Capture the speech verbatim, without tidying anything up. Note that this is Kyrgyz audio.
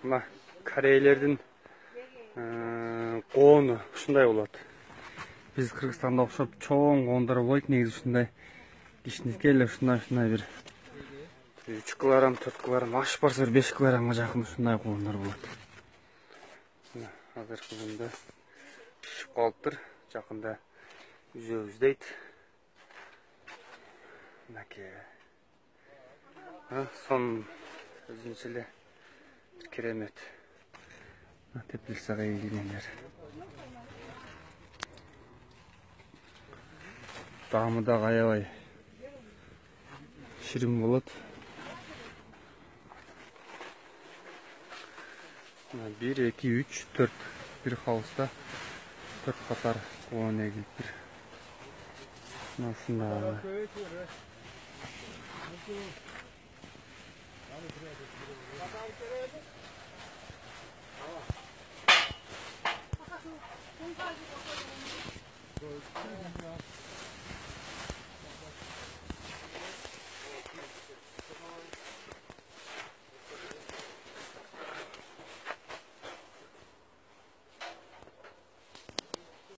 Мына корейлердин коону ушундай болот. Биз Кыргызстанда окшоп чоң коондар болбойт, негизи ушундай кичинекей эле ушундай-ушундай бир үч килограмм, төрт килограмм, аш барса бир беш килограммга жакын ушундай коондар болот. Азыркы күндө пишип калыптыр, жакында үзөбүз дейт. Мынакей. Сон өзүнчө эле керемет. Теплицага ийилгендер. Таамы да аябай ширин болот. бир, эки, үч, төрт. Бир хауста төрт катар коон эгилиптир. Ушундай.